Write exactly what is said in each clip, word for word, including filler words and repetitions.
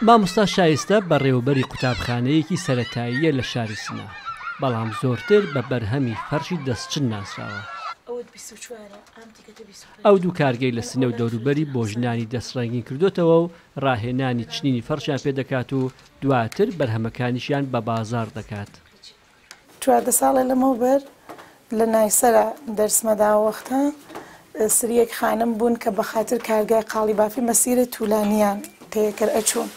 مامۆستا شایستە بەڕێوەبەری قوتابخانەیەکی سەرەتاییە لە شاری سنە، بەڵام زۆرتر بە بەرهەمی فەرشی دەستچن ناسراوە. ئەو دوو کارگەی لە سنە و دەوروبەری بۆ ژنانی دەستڕەنگین کردوتەوە و ڕاهێنانی چنینی فەرشیان پێدەکات و دواتر بەرهەمەکانیشیان بە بازاڕ دەکات. چواردە ساڵە لەمەوبەر لە نایسەرە دەرسمەدا وەختە سریەک خانم بوون کە بە خاتر کارگای قاڵی بافی مەسیرە توولانیان تێکرد ئەچوون.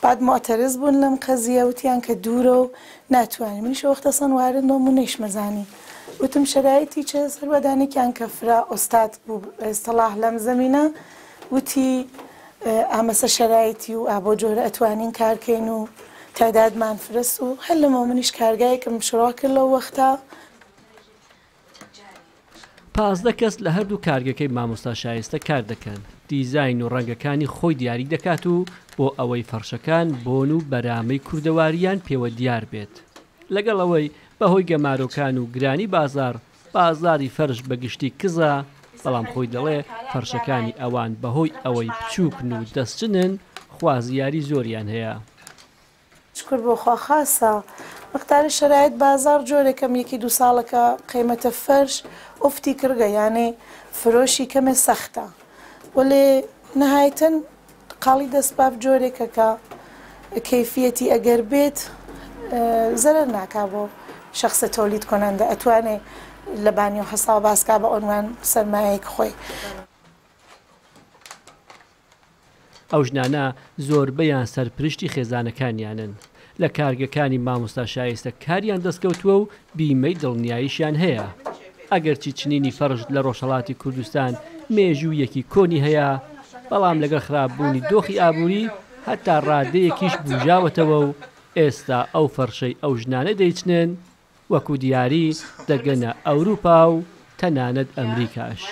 بعد معترض بوون لەم قەزیە وتیان کە دوورە و ناتوانین. منیش وەختە سەن وارد نۆم و نەیشمەزانی. وتم شەرایتی چه سەروەدانێکیان کە فرا ئوستاد بوو ئێستەڵاح لەم زەمینە وتی ئامەسە شەرایتی و ئابۆ جۆرە ئەتوانین کارکەین و تعدادمان فرەس و هەر لەمەوە منیش کارگایەکم شڕا کرد لەو وەختە. پازدە کەس لە هەردوو کارگەکەی مامۆستا شایستە کار دەکەن. دیزاین و ڕەنگەکانی خۆی دیاری دەکات و بۆ ئەوەی فەرشەکان بۆن و بەرامەی کوردەواریان پێوە دیار بێت. لەگەڵ ئەوەی بەهۆی گەمارۆکان و گرانی بازار بازاری فەرش بەگشتی کزە، بەڵام خۆی دەڵێ فەرشەکانی ئەوان بەهۆی ئەوەی بچووکن و دەستچنن خوازیاری زۆریان هەیە. شکر بۆ خوا خاصە مقدار شرایط بازار جۆرێکم یەکی دوو ساڵەکە قیمەتە فەرش ئوفتی کردگە، یانێ فرۆشی کەمێ سەختە، وەلێ نهایتەن قاڵی دەستباف جۆرێکە کە کەیفیەتی ئەگەر بێت زەرەر ناکا بۆ شخصە تۆلید کننده ئەتوانێ لە بانی و حساب باسکا بە عنوان سەرمایەک خۆی. ئەو ژنانە زۆربەیان سەرپرشتی خێزانەکانیانن. لە کارگەکانی مامۆستا شایستە کاریان دەستکەوتووە و بیمەی دڵنیاییشیان هەیە. ئەگەرچی چنینی فەرش لە ڕۆژهەڵاتی کوردستان مێژوویەکی کۆنی هەیە، بەڵام لەگەڵ خراپبوونی دۆخی ئابووری هەتا ڕادەیەکیش بوژاوەتەوە و ئێستا ئەو فەرشەی ئەو ژنانە دەیچنن وەکو دیاری دەگەنە ئەوروپا و تەنانەت ئەمریکاش.